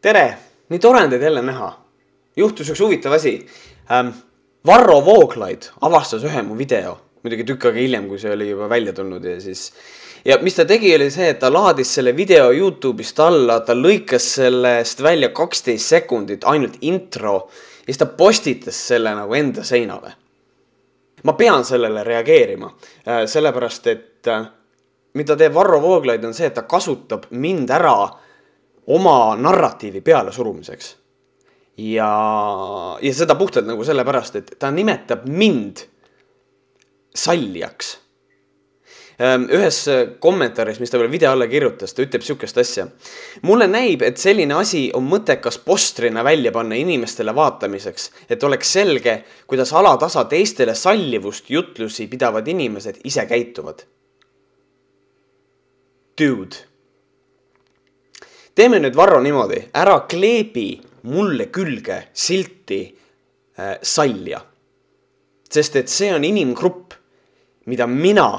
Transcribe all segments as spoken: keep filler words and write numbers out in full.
Tere, nii tore on teid jälle näha. Juhtus üks huvitav asi. Ähm, Varro Vooglaid avastas ühe mu video, muidugi tükk aega hiljem, kui see oli juba välja tulnud. Ja, siis... ja mis ta tegi, oli see, et ta laadis selle video YouTube'ist alla, ta lõikas sellest välja kaksteist sekundit, ainult intro, ja siis ta postitas selle nagu enda seinale. Ma pean sellele reageerima, sellepärast, et mida teeb Varro Vooglaid on see, et ta kasutab mind ära oma narratiivi peale surumiseks. Ja, ja seda puhtalt nagu sellepärast, et ta nimetab mind sallijaks. Ühes kommentaaris, mis ta veel video alla kirjutas, ta ütleb sihukest asja. Mulle näib, et selline asi on mõttekas postrina välja panna inimestele vaatamiseks, et oleks selge, kuidas alatasa teistele sallivust jutlusi pidavad inimesed ise käituvad. Dude. Teeme nüüd Varro niimoodi, ära kleebi mulle külge silti äh, salja. Sest et see on inimgrupp, mida mina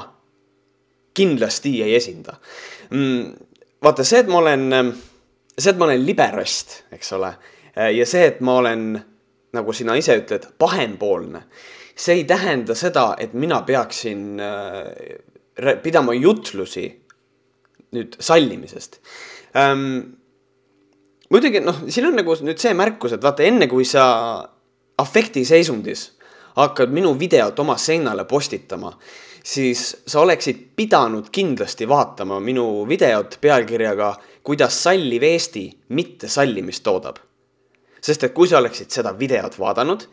kindlasti ei esinda. Mm, vaata, see, et ma olen, see, et ma olen liberast, eks ole, ja see, et ma olen, nagu sina ise ütled, pahempoolne, see ei tähenda seda, et mina peaksin äh, pidama jutlusi nüüd sallimisest. Ähm, muidugi, noh, siin on nagu nüüd see märkus, et vaata, enne kui sa afekti seisundis hakkad minu videot oma seinale postitama, siis sa oleksid pidanud kindlasti vaatama minu videot pealkirjaga, kuidas salliv Eesti mitte sallimist toodab. Sest et kui sa oleksid seda videot vaadanud,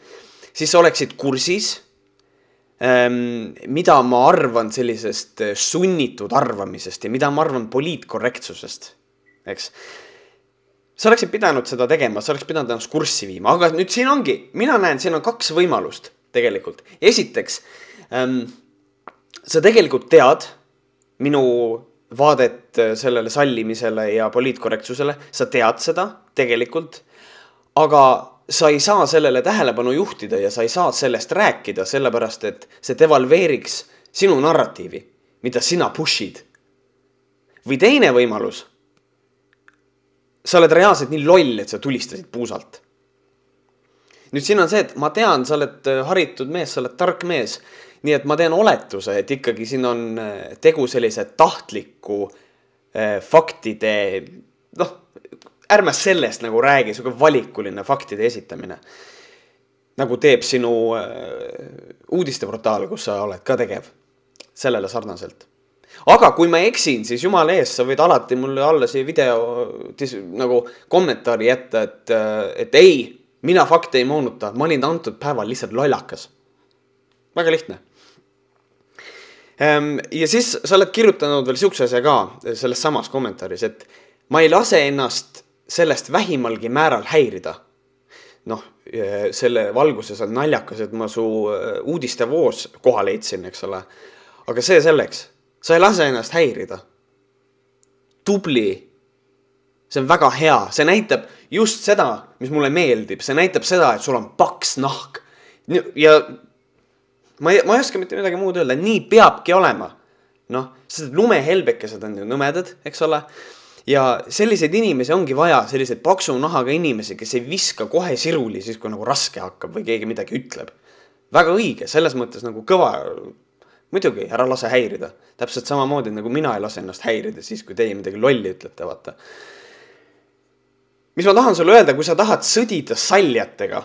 siis sa oleksid kursis, ähm, mida ma arvan sellisest sunnitud arvamisest ja mida ma arvan poliitkorrektsusest. Eks? Sa oleksid pidanud seda tegema, sa oleksid pidanud ennast kurssi viima, aga nüüd siin ongi, mina näen, siin on kaks võimalust tegelikult. Esiteks, ähm, sa tegelikult tead minu vaadet sellele sallimisele ja poliitkorrektsusele, sa tead seda tegelikult, aga sa ei saa sellele tähelepanu juhtida ja sa ei saa sellest rääkida, sellepärast et see devalveeriks sinu narratiivi, mida sina pushid. Või teine võimalus, sa oled reaalselt nii loll, et sa tulistasid puusalt. Nüüd siin on see, et ma tean, sa oled haritud mees, sa oled tark mees, nii et ma teen oletuse, et ikkagi siin on tegu sellise tahtliku eh, faktide, noh, ärme sellest nagu räägi, suge valikuline faktide esitamine. Nagu teeb sinu eh, uudisteportaal, kus sa oled ka tegev, sellele sarnaselt. Aga kui ma eksin, siis jumala ees, sa võid alati mulle alla siia video tis, nagu kommentaari jätta, et, et ei, mina fakte ei moonuta, ma olin antud päeval lihtsalt lollakas. Väga lihtne. Ja siis sa oled kirjutanud veel sihukese asja ka selles samas kommentaaris, et ma ei lase ennast sellest vähimalgi määral häirida. Noh, selle valguses on naljakas, et ma su uudiste voos koha leidsin, eks ole. Aga see selleks, sa ei lase ennast häirida. Tubli. See on väga hea. See näitab just seda, mis mulle meeldib. See näitab seda, et sul on paks nahk. Ja Ma ei, ma ei oska mitte midagi muud öelda, nii peabki olema. Noh, sest lumehelbekesed on ju nõmedad, eks ole. Ja selliseid inimesi ongi vaja, selliseid paksu nahaga inimesi, kes ei viska kohe siruli, siis kui nagu raske hakkab või keegi midagi ütleb. Väga õige, selles mõttes nagu kõva, muidugi, ära lase häirida. Täpselt samamoodi, nagu mina ei lase ennast häirida, siis kui teie midagi lolli ütlete, vaata. Mis ma tahan sulle öelda, kui sa tahad sõdida saljatega,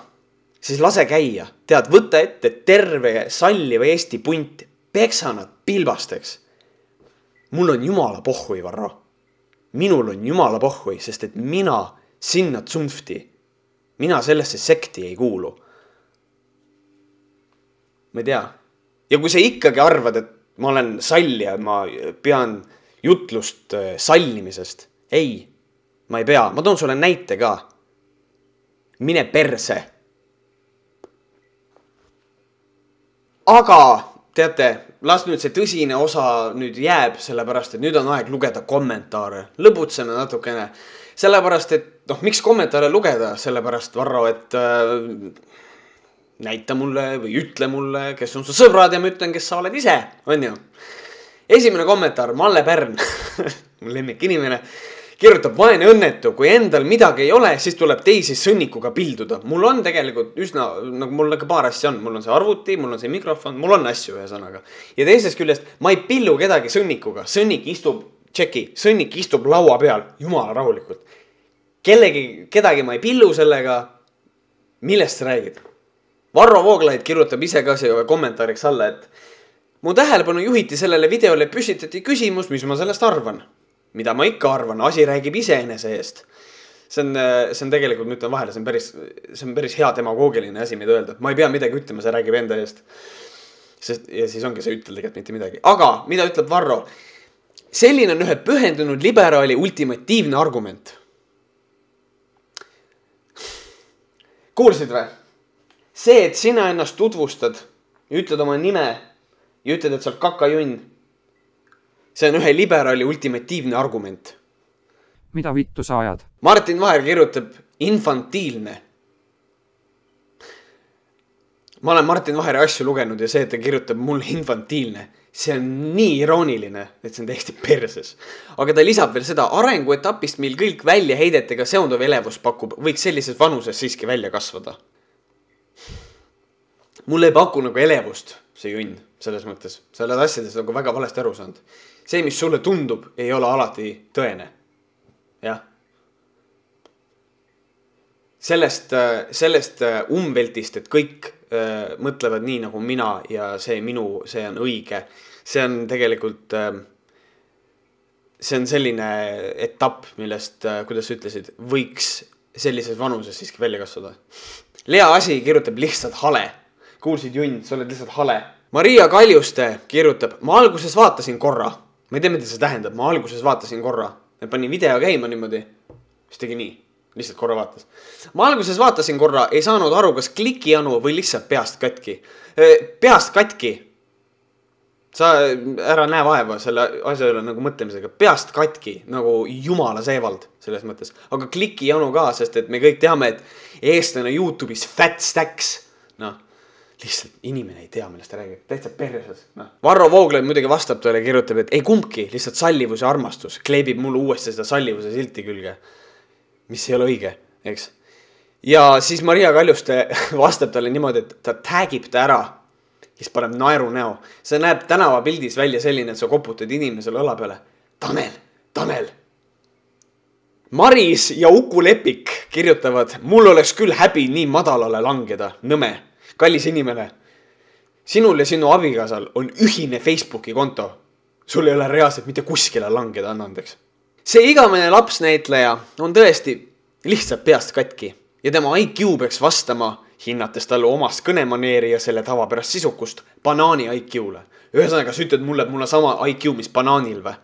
siis lase käia. Tead, võtta ette terve salliva Eesti punt, peksa nad pilbasteks. Mul on jumala pohhui, Varro. Minul on jumala pohhui, sest et mina sinna tsumfti, mina sellesse sekti ei kuulu. Ma ei tea. Ja kui sa ikkagi arvad, et ma olen sallija, ma pean jutlust sallimisest. Ei, ma ei pea. Ma toon sulle näite ka. Mine perse. Aga, teate, las nüüd see tõsine osa nüüd jääb, sellepärast, et nüüd on aeg lugeda kommentaare. Lõbutseme natukene. Sellepärast, et, noh, miks kommentaare lugeda? Sellepärast, Varro, et äh, näita mulle või ütle mulle, kes on su sõbrad ja ma ütlen, kes sa oled ise, on ju. Esimene kommentaar, Malle Pärn, mu lemmik inimene, kirjutab vaene õnnetu, kui endal midagi ei ole, siis tuleb teisi sõnnikuga pilduda. Mul on tegelikult üsna, nagu mul nagu paar asja on, mul on see arvuti, mul on see mikrofon, mul on asju ühe sõnaga. Ja teisest küljest, ma ei pillu kedagi sõnnikuga, sõnnik istub, tšeki, sõnnik istub laua peal, jumala rahulikult. Kellegi, kedagi ma ei pillu sellega, millest sa räägid? Varro Vooglaid kirjutab ise ka see kommentaariks alla, et mu tähelepanu juhiti sellele videole püstitati küsimus, mis ma sellest arvan. Mida ma ikka arvan, asi räägib iseenese eest. See on, see on tegelikult, ma ütlen vahele, see on päris, see on päris hea demagoogiline asi, mida öelda. Ma ei pea midagi ütlema, see räägib enda eest. Sest, ja siis ongi see ütel tegelikult mitte midagi. Aga, mida ütleb Varro? Selline on ühe pühendunud liberaali ultimatiivne argument. Kuulsid või? See, et sina ennast tutvustad ja ütled oma nime ja ütled, et sa oled kakajunn. See on ühe liberaali ultimatiivne argument. Mida vittu sa ajad? Martin Vaher kirjutab infantiilne. Ma olen Martin Vaheri asju lugenud ja see, et ta kirjutab mulle infantiilne, see on nii irooniline, et see on täiesti perses. Aga ta lisab veel seda, arenguetapist meil kõik välja heidetega seonduv elevus pakub, võiks sellises vanuses siiski välja kasvada. Mulle ei paku nagu elevust see junn selles mõttes. Selles asjades nagu väga valesti aru saanud. See, mis sulle tundub, ei ole alati tõene. Jah. Sellest, sellest umveltist, et kõik äh, mõtlevad nii nagu mina ja see minu, see on õige. See on tegelikult, äh, see on selline etapp, millest, äh, kuidas ütlesid, võiks sellises vanuses siiski välja kasvada. Lea Asi kirjutab lihtsalt hale. Kuulsid junn, sa oled lihtsalt hale. Maria Kaljuste kirjutab, ma alguses vaatasin korra. Ma ei tea, mida see tähendab, ma alguses vaatasin korra. Ma panin video käima niimoodi. Mis tegi nii? Lihtsalt korra vaatas. Ma alguses vaatasin korra, ei saanud aru, kas klikijanu või lihtsalt peast katki. Peast katki. Sa ära näe vaeva selle asja üle nagu mõtlemisega. Peast katki, nagu jumala seevald selles mõttes. Aga klikijanu ka, sest et me kõik teame, et eestlane YouTube'is fat stacks. Noh. Lihtsalt inimene ei tea, millest ta räägib. Täitsa perses. No. Varro Vooglaid muidugi vastab tõele, kirjutab, et ei kumbki, lihtsalt sallivus ja armastus. Kleebib mulle uuesti seda sallivuse silti külge. Mis ei ole õige, eks? Ja siis Maria Kaljuste vastab talle niimoodi, et ta tagib ta ära. Siis paneb naeru näo. See näeb tänava pildis välja selline, et sa koputad inimesele õla peale. Tanel, Tanel. Maris ja Uku Lepik kirjutavad, mul oleks küll häbi nii madalale langeda. Nõme. Kallis inimene, sinul ja sinu abikaasal on ühine Facebooki konto. Sul ei ole reaalselt mitte kuskile langeda, anna andeks. See igamene lapsnäitleja on tõesti lihtsalt peast katki ja tema I Q peaks vastama, hinnates talle omast kõnemaneeri ja selle tavapärast sisukust banaani I Q-le. Ühesõnaga, sa ütled mulle, et mul on sama I Q, mis banaanil või?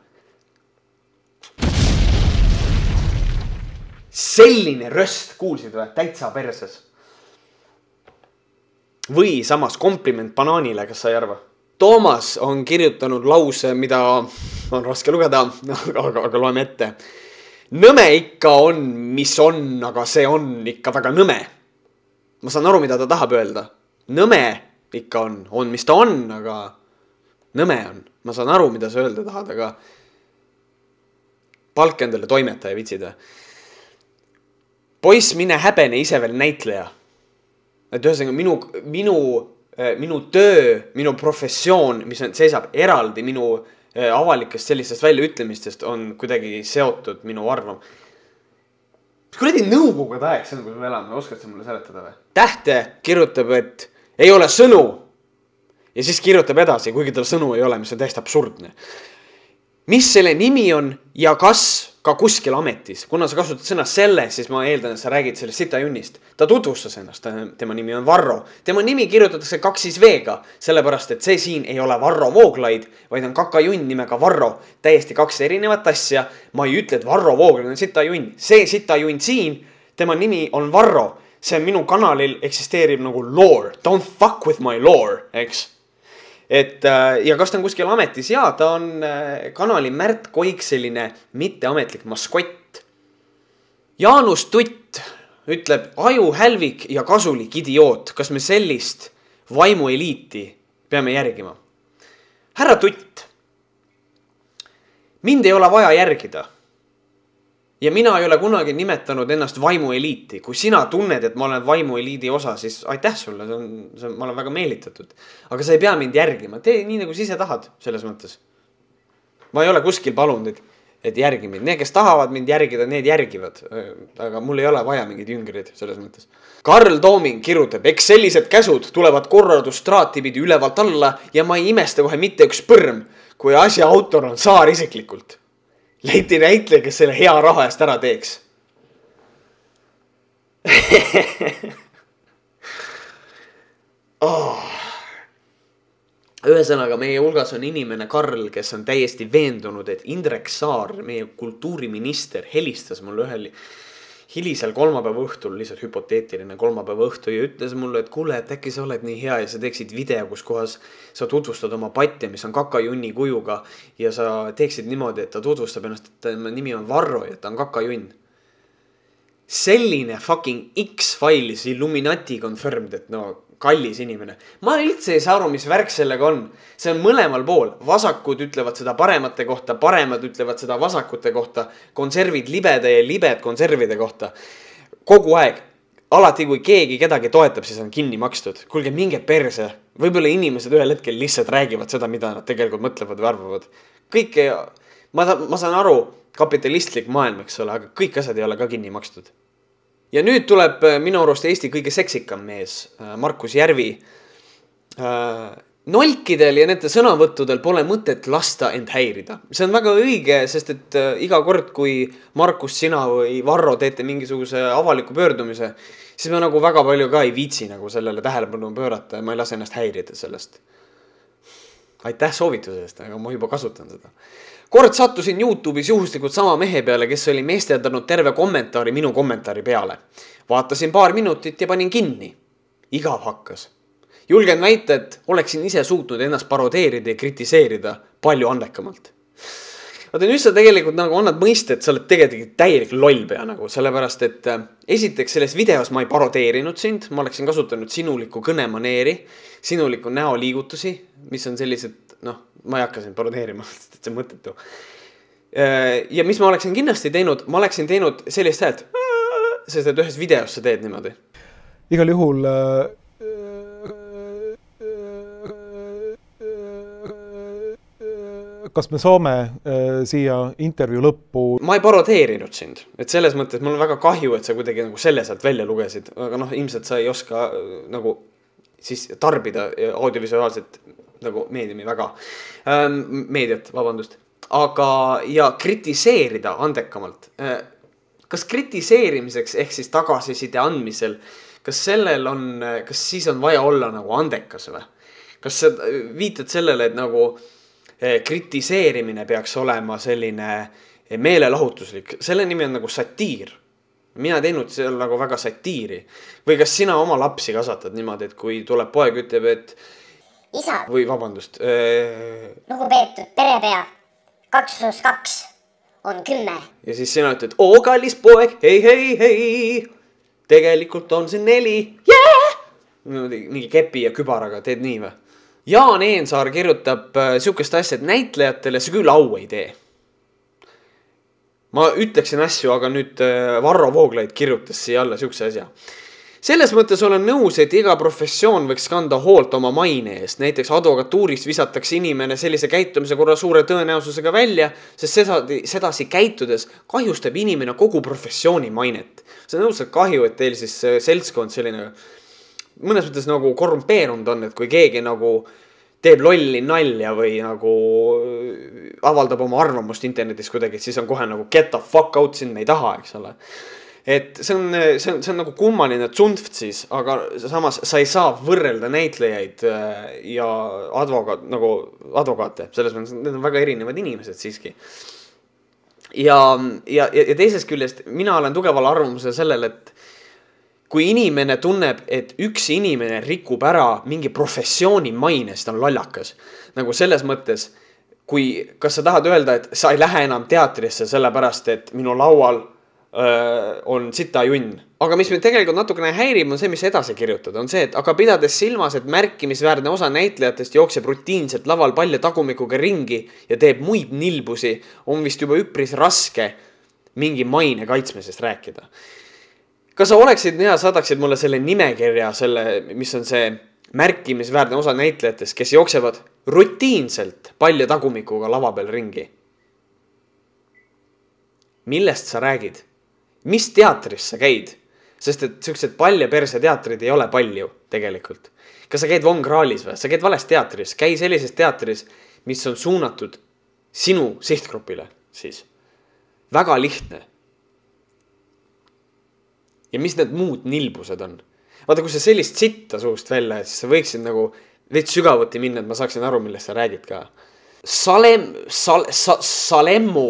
Selline röst, kuulsid või? Täitsa perses. Või samas kompliment banaanile, kas sa ei arva? Toomas on kirjutanud lause, mida on raske lugeda, aga, aga loeme ette. Nõme ikka on, mis on, aga see on ikka väga nõme. Ma saan aru, mida ta tahab öelda. Nõme ikka on, on, mis ta on, aga nõme on. Ma saan aru, mida sa öelda tahad, aga palk endale toimetaja vitsid. Poiss, mine häbene ise veel näitleja. Et ühesõnaga minu, minu, minu töö, minu professioon, mis seisab eraldi minu avalikest sellistest väljaütlemistest, on kuidagi seotud minu arvam. Mis kuradi nõukogude aeg see on, kui me elame, oskad sa mulle seletada või? Tähte kirjutab, et ei ole sõnu ja siis kirjutab edasi, kuigi tal sõnu ei ole, mis on täiesti absurdne. Mis selle nimi on ja kas ka kuskil ametis. Kuna sa kasutad sõna selle, siis ma eeldan, et sa räägid sellest sita junnist. Ta tutvustas ennast, tema nimi on Varro. Tema nimi kirjutatakse kaksis veega, sellepärast, et see siin ei ole Varro Vooglaid, vaid on kakajunn nimega Varro. Täiesti kaks erinevat asja. Ma ei ütle, et Varro Vooglaid on sita junn. See sita junn siin, tema nimi on Varro. See minu kanalil eksisteerib nagu lore. Don't fuck with my lore, eks? Et, ja kas ta on kuskil ametis? Jaa, ta on kanali Märt Koik selline mitteametlik maskott. Jaanus Tutt ütleb, aju hälvik ja kasulik idioot. Kas me sellist vaimu eliiti peame järgima? Härra Tutt, mind ei ole vaja järgida. ja mina ei ole kunagi nimetanud ennast vaimueliiti. Kui sina tunned, et ma olen vaimueliidi osa, siis aitäh sulle, see on, see on, ma olen väga meelitatud. Aga sa ei pea mind järgima, tee nii nagu sa ise tahad selles mõttes. Ma ei ole kuskil palunud, et, et järgi mind. Need, kes tahavad mind järgida, need järgivad. Aga mul ei ole vaja mingid jüngrid selles mõttes. Karl Tooming kirjutab, eks sellised käsud tulevad korradustraati pidi ülevalt alla ja ma ei imesta kohe mitte üks põrm, kui asja autor on Saar isiklikult. Leiti näitleja, kes selle hea raha eest ära teeks. oh. Ühesõnaga, meie hulgas on inimene Karl, kes on täiesti veendunud, et Indrek Saar, meie kultuuriminister, helistas mulle ühel hilisel kolmapäeva õhtul, lihtsalt hüpoteetiline kolmapäeva õhtu ja ütles mulle, et kuule, et äkki sa oled nii hea ja sa teeksid video, kus kohas sa tutvustad oma patja, mis on kakajunni kujuga ja sa teeksid niimoodi, et ta tutvustab ennast, et ta nimi on Varro ja ta on kakajunn. Selline fucking X-Files Illuminati confirmed, et no kallis inimene. Ma üldse ei saa aru, mis värk sellega on. See on mõlemal pool. Vasakud ütlevad seda paremate kohta, paremad ütlevad seda vasakute kohta, konservid libede ja libed konservide kohta. Kogu aeg. Alati, kui keegi kedagi toetab, siis on kinni makstud. Kuulge, minge perse. Võib-olla inimesed ühel hetkel lihtsalt räägivad seda, mida nad tegelikult mõtlevad või arvavad. Kõik ei... Ma, ma saan aru, kapitalistlik maailm, eks ole, aga kõik asjad ei ole ka kinni makstud. Ja nüüd tuleb minu arust Eesti kõige seksikam mees, Markus Järvi. Nolkidel ja nende sõnavõttudel pole mõtet lasta end häirida. See on väga õige, sest et iga kord, kui Markus, sina või Varro teete mingisuguse avaliku pöördumise, siis me nagu väga palju ka ei viitsi nagu sellele tähelepanu pöörata ja ma ei lase ennast häirida sellest. Aitäh soovitusest, aga ma juba kasutan seda. Kord sattusin YouTube'is juhuslikult sama mehe peale, kes oli meesteldanud terve kommentaari minu kommentaari peale. Vaatasin paar minutit ja panin kinni. Igav hakkas. Julgen väita, et oleksin ise suutnud ennast parodeerida ja kritiseerida palju andekamalt. Vaata, nüüd sa tegelikult nagu annad mõiste, et sa oled tegelikult täielik lollpea nagu, sellepärast, et esiteks selles videos ma ei parodeerinud sind, ma oleksin kasutanud sinuliku kõnemaneeri, sinuliku näoliigutusi, mis on sellised, noh, ma ei hakka sind parodeerima, sest see on mõttetu. Ja mis ma oleksin kindlasti teinud, ma oleksin teinud sellist häält, sest et ühes videos sa teed niimoodi. Igal juhul kas me saame siia intervjuu lõppu? Ma ei parodeerinud sind, et selles mõttes mul on väga kahju, et sa kuidagi nagu selle sealt välja lugesid, aga noh, ilmselt sa ei oska nagu siis tarbida audiovisuaalset nagu meediumi väga, ähm, meediat, vabandust, aga ja kritiseerida andekamalt. Kas kritiseerimiseks ehk siis tagasiside andmisel, kas sellel on, kas siis on vaja olla nagu andekas või? Kas sa viitad sellele, et nagu kritiseerimine peaks olema selline meelelahutuslik, selle nimi on nagu satiir. Mina teinud seal nagu väga satiiri. Või kas sina oma lapsi kasvatad niimoodi, et kui tuleb poeg ütleb, et isa. Või vabandust. Äh... Lugupeetud perepea. Kaks pluss kaks on kümme. Ja siis sina ütled, oo kallis poeg, hei, hei, hei. Tegelikult on see neli. Yeah! Mingi kepi ja kübaraga teed nii või? Jaan Eensaar kirjutab äh, siukest asja, et näitlejatele see küll au ei tee. Ma ütleksin asju, aga nüüd äh, Varro Vooglaid kirjutas siia alla siukse asja. Selles mõttes olen nõus, et iga professioon võiks kanda hoolt oma maine eest. Näiteks advokatuuris visatakse inimene sellise käitumise korra suure tõenäosusega välja, sest sedasi, sedasi käitudes kahjustab inimene kogu professiooni mainet. See on nõusalt kahju, et teil siis seltskond selline mõnes mõttes nagu korrumpeerunud on, et kui keegi nagu teeb lolli nalja või nagu avaldab oma arvamust internetis kuidagi, siis on kohe nagu get the fuck out, siin me ei taha, eks ole. Et see on, see on, see on nagu kummaline tsunft siis, aga samas sa ei saa võrrelda näitlejaid ja advokaat, nagu advokaate. Selles mõttes, need on väga erinevad inimesed siiski. Ja, ja, ja teisest küljest mina olen tugeval arvamusel sellel, et kui inimene tunneb, et üks inimene rikub ära mingi professiooni mainest, on lallakas. Nagu selles mõttes, kui, kas sa tahad öelda, et sa ei lähe enam teatrisse sellepärast, et minu laual öö, on sita junn. Aga mis me tegelikult natukene häirib, on see, mis edasi kirjutada. On see, et aga pidades silmas, et märkimisväärne osa näitlejatest jookseb rutiinselt laval palja tagumikuga ringi ja teeb muid nilbusi, on vist juba üpris raske mingi maine kaitsmisest rääkida. Kas sa oleksid hea, saadaksid mulle selle nimekirja, selle, mis on see märkimisväärne osa näitlejatest, kes jooksevad rutiinselt palja tagumikuga lava peal ringi? Millest sa räägid? Mis teatris sa käid? Sest et sellised palja perse teatrid ei ole palju tegelikult. Kas sa käid Von Krahlis või? Sa käid vales teatris. Käi sellises teatris, mis on suunatud sinu sihtgrupile siis. Väga lihtne. Ja mis need muud nilbused on? Vaata, kui sa sellist sitta suust välja, siis sa võiksid nagu veits sügavuti minna, et ma saaksin aru, millest sa räägid ka. Salem, sal, sa, Salemmu,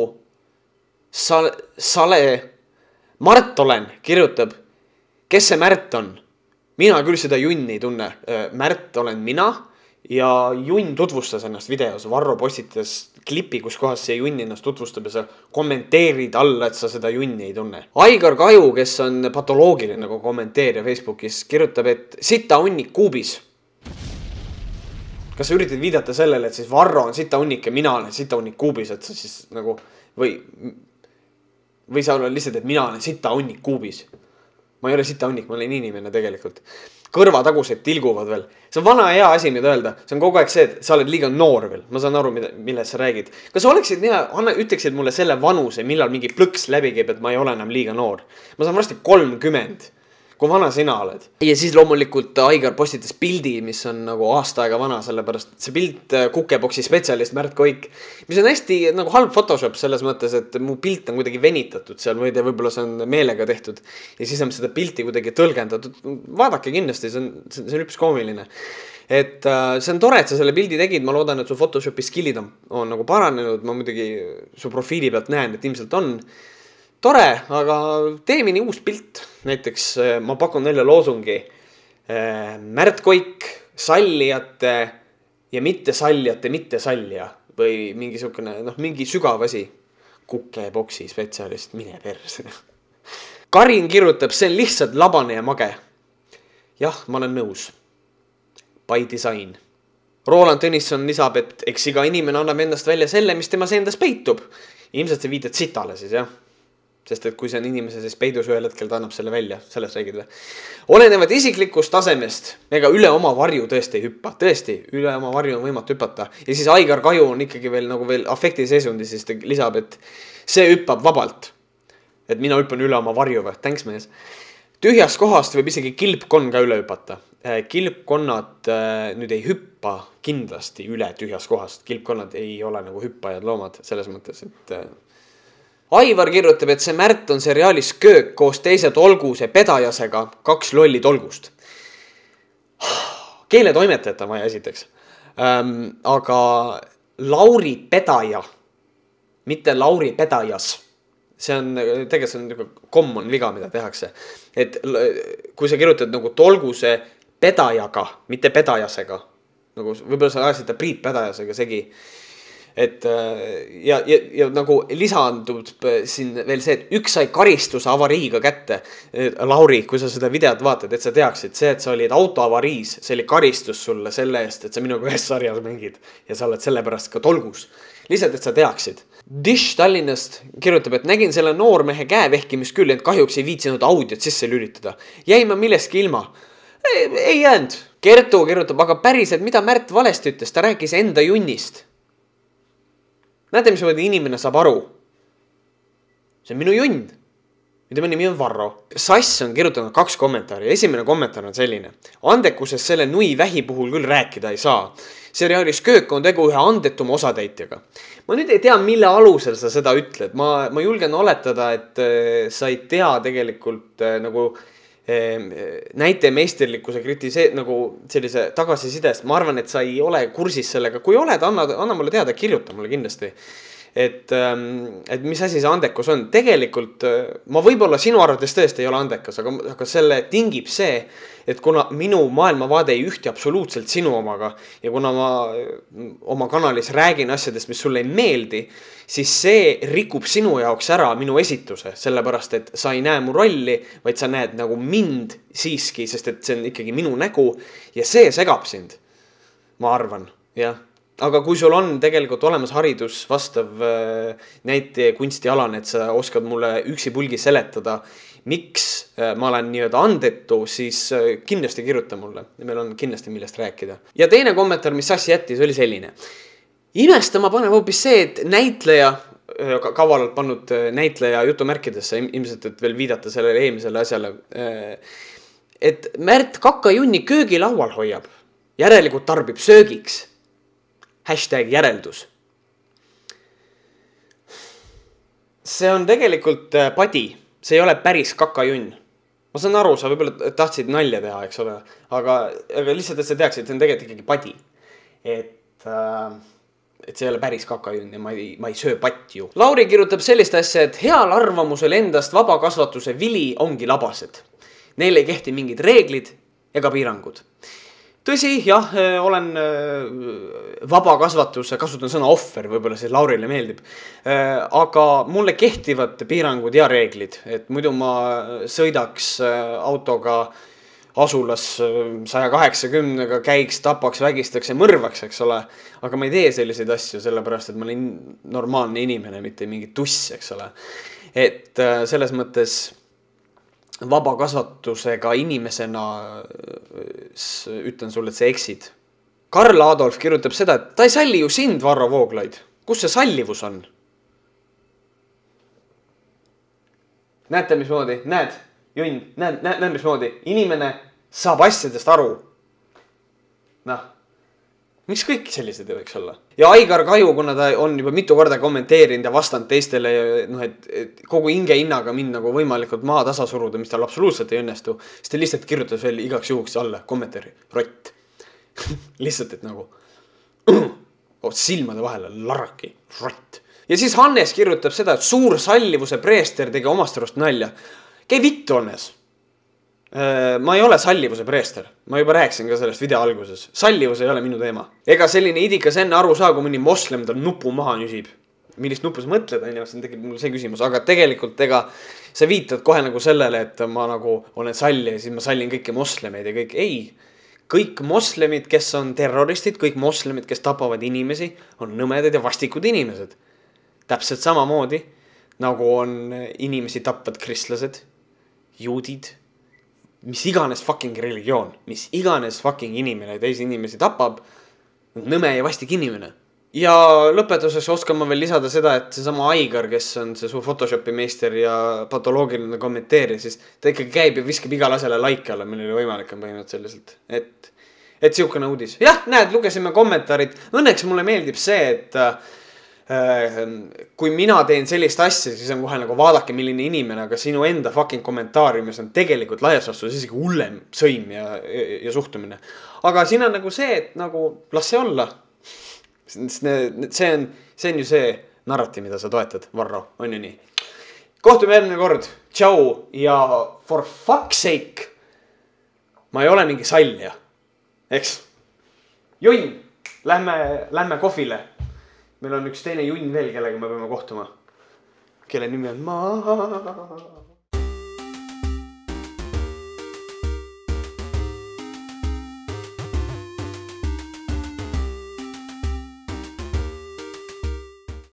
sal, Sale, Mart olen, kirjutab, kes see Märt on? Mina küll seda junni ei tunne. Märt olen mina ja junn tutvustas ennast videos. Varro postitas klipi, kus kohas see junn ennast tutvustab ja sa kommenteerid alla, et sa seda junni ei tunne. Aigar Kaju, kes on patoloogiline nagu kommenteerija Facebookis, kirjutab, et sita unnik kuubis. Kas sa üritad viidata sellele, et siis Varro on sita unnik ja mina olen sita unnik kuubis, et sa siis nagu või, või sa olen lihtsalt, et mina olen sita unnik kuubis. Ma ei ole sita unnik, ma olen inimene tegelikult. Kõrvatagused tilguvad veel. See on vana hea asi mida öelda. See on kogu aeg see, et sa oled liiga noor veel. Ma saan aru, millest sa räägid. Kas sa oleksid nii, anna, ütleksid mulle selle vanuse, millal mingi plõks läbi käib, et ma ei ole enam liiga noor. Ma saan varsti kolmkümmend. Kui vana sina oled. Ja siis loomulikult Aigar postitas pildi, mis on nagu aasta aega vana, sellepärast see pilt kukeboksi spetsialist Märt Koik, mis on hästi nagu halb Photoshop selles mõttes, et mu pilt on kuidagi venitatud seal, või võib-olla see on meelega tehtud ja siis on seda pilti kuidagi tõlgendatud. Vaadake kindlasti, see on, see on üpis koomiline. Et uh, see on tore, et sa selle pildi tegid, ma loodan, et su Photoshopi skillid on, on nagu paranenud, ma muidugi su profiili pealt näen, et ilmselt on tore, aga tee mini uus pilt. Näiteks ma pakun välja loosungi Märt Koik, sallijate ja mitte sallijate, mitte sallija. Või mingi sukune, noh, mingi sügav asi. Kukeboksi spetsialist, mine perse. Karin kirjutab, see on lihtsalt labane ja mage. Jah, ma olen nõus. By design. Roland Tõnisson lisab, et eks iga inimene annab endast välja selle, mis temas endas peitub. Ilmselt see viitad sitale siis, jah. Sest et kui see on inimese siis peidus ühel hetkel, ta annab selle välja, sellest räägid või. Olenevad isiklikust tasemest, ega üle oma varju tõesti ei hüppa. Tõesti, üle oma varju on võimatu hüpata. Ja siis Aigar Kaju on ikkagi veel nagu veel afekti seisundi, siis ta lisab, et see hüppab vabalt. Et mina hüppan üle oma varju või, thanks mees. Tühjast kohast võib isegi kilpkonn ka üle hüpata. Kilpkonnad nüüd ei hüppa kindlasti üle tühjast kohast. Kilpkonnad ei ole nagu hüppajad loomad selles mõttes, et Aivar kirjutab, et see Märt on seriaalis Köök koos teise tolguse pedajasega, kaks lolli tolgust. Keeletoimetajat on vaja esiteks. Ähm, aga Lauri Pedaja, mitte Lauri Pedajas. See on, tegelikult see on nagu common viga, mida tehakse. Et kui sa kirjutad nagu tolguse pedajaga, mitte pedajasega, nagu võib-olla sa ajasid ta Priit Pedajasega segi. Et ja, ja, ja nagu lisandub siin veel see, et üks sai karistuse avariiga kätte. Lauri, kui sa seda videot vaatad, et sa teaksid see, et sa olid autoavariis, see oli karistus sulle selle eest, et sa minuga ühes sarjas mängid ja sa oled selle pärast ka tolgus. Lihtsalt, et sa teaksid. Dish Tallinnast kirjutab, et nägin selle noormehe käevehkimist küll, ent kahjuks ei viitsinud audiot sisse lülitada. Jäin ma millestki ilma. Ei, ei jäänud. Kertu kirjutab, aga päriselt, mida Märt valesti ütles, ta rääkis enda junnist. Näete, mis mõni inimene saab aru. See on minu junn. Mida nimi on Varro. Sass on kirjutanud kaks kommentaari. Esimene kommentaar on selline. Andekuses selle nui vähi puhul küll rääkida ei saa. Seriaalis Köök on tegu ühe andetuma osatäitjaga. Ma nüüd ei tea, mille alusel sa seda ütled. Ma, ma julgen oletada, et sa ei tea tegelikult nagu näite meisterlikkuse kritisee, nagu sellise tagasisidest. Ma arvan, et sa ei ole kursis sellega. Kui oled, anna, anna mulle teada, kirjuta mulle kindlasti. Et, et mis asi see andekus on. Tegelikult ma võib-olla sinu arvates tõesti ei ole andekas, aga, aga selle tingib see, et kuna minu maailmavaade ei ühti absoluutselt sinu omaga ja kuna ma oma kanalis räägin asjadest, mis sulle ei meeldi, siis see rikub sinu jaoks ära minu esituse, sellepärast, et sa ei näe mu rolli, vaid sa näed nagu mind siiski, sest et see on ikkagi minu nägu ja see segab sind, ma arvan, jah. aga kui sul on tegelikult olemas haridus vastav näite kunstialane, et sa oskad mulle üksipulgi seletada, miks ma olen nii-öelda andetu, siis kindlasti kirjuta mulle. Meil on kindlasti millest rääkida. Ja teine kommentaar, mis Sassi jättis, oli selline. Imestama paneb hoopis see, et näitleja, kavalalt pannud näitleja jutumärkidesse, ilmselt, et veel viidata sellele eelmisele asjale, et Märt kakajunni köögilaual hoiab. Järelikult tarbib söögiks. Hashtag järeldus. See on tegelikult padi. See ei ole päris kakajunn. Ma saan aru, sa võib-olla tahtsid nalja teha, eks ole. Aga, aga lihtsalt, et sa teaksid, et see on tegelikult ikkagi padi. Et, äh, et see ei ole päris kakajunn ja ma ei, ma ei söö patti ju. Lauri kirjutab sellist asja, et heal arvamusel endast vabakasvatuse vili ongi labased. Neil ei kehti mingid reeglid ega piirangud. Tõsi, jah, olen vabakasvatuse, kasutan sõna ohver, võib-olla see Laurile meeldib. Aga mulle kehtivad piirangud ja reeglid, et muidu ma sõidaks autoga asulas saja kaheksakümnega, käiks, tapaks, vägistaks ja mõrvaks, eks ole. Aga ma ei tee selliseid asju, sellepärast, et ma olen normaalne inimene, mitte mingi tuss, eks ole. Et selles mõttes vabakasvatusega inimesena ütlen sulle, et sa eksid. Karl Adolf kirjutab seda, et ta ei salli ju sind, Varro Vooglaid. Kus see sallivus on? Näete, mismoodi? Näed, Junn, näed, näed, näed, mismoodi? Inimene saab asjadest aru. Noh, miks kõik sellised ei võiks olla? Ja Aigar Kaju, kuna ta on juba mitu korda kommenteerinud ja vastanud teistele, noh, et, et kogu hinge hinnaga mind nagu võimalikult maa tasa suruda, mis tal absoluutselt ei õnnestu, siis ta lihtsalt kirjutas veel igaks juhuks alla kommentaari, rott. Lihtsalt, et nagu silmade vahele larraki, rott. Ja siis Hannes kirjutab seda, et suur sallivuse preester tegi omast arust nalja. Käi vittu, Hannes. Ma ei ole sallivuse preester. Ma juba rääksin ka sellest video alguses. Sallivus ei ole minu teema. Ega selline idikas enne aru saa, kui mõni moslem tal nupu maha nüsib. Millist nupu sa mõtled, on ju, see on tegelikult mul see küsimus. Aga tegelikult ega sa viitad kohe nagu sellele, et ma nagu olen salli ja siis ma sallin kõiki moslemeid ja kõik. Ei, kõik moslemid, kes on terroristid, kõik moslemid, kes tapavad inimesi, on nõmedad ja vastikud inimesed. Täpselt samamoodi, nagu on inimesi tapvad kristlased, juudid, mis iganes fucking religioon, mis iganes fucking inimene teisi inimesi tapab, nõme ja vastik inimene. Ja lõpetuseks oskan ma veel lisada seda, et see sama Aigar, kes on see suur Photoshopi meister ja patoloogiline kommenteerija, siis ta ikkagi käib ja viskab igal asjale like alla, millele võimalik on põhimõtteliselt. Et, et siukene uudis. Jah, näed, lugesime kommentaarid. Õnneks mulle meeldib see, et kui mina teen sellist asja, siis on kohe nagu vaadake milline inimene, aga sinu enda fucking kommentaariumis on tegelikult laias vastus isegi hullem sõim ja, ja, ja suhtumine. Aga siin on nagu see, et nagu las see olla. See on, see on ju see narratiiv, mida sa toetad, Varro, on ju nii. Kohtume järgmine kord. Tšau ja for fuck's sake. Ma ei ole mingi sallja. Eks? Junn, lähme, lähme kohvile. Meil on üks teine Junn veel, kellega me peame kohtuma. Kelle nimi on Maa.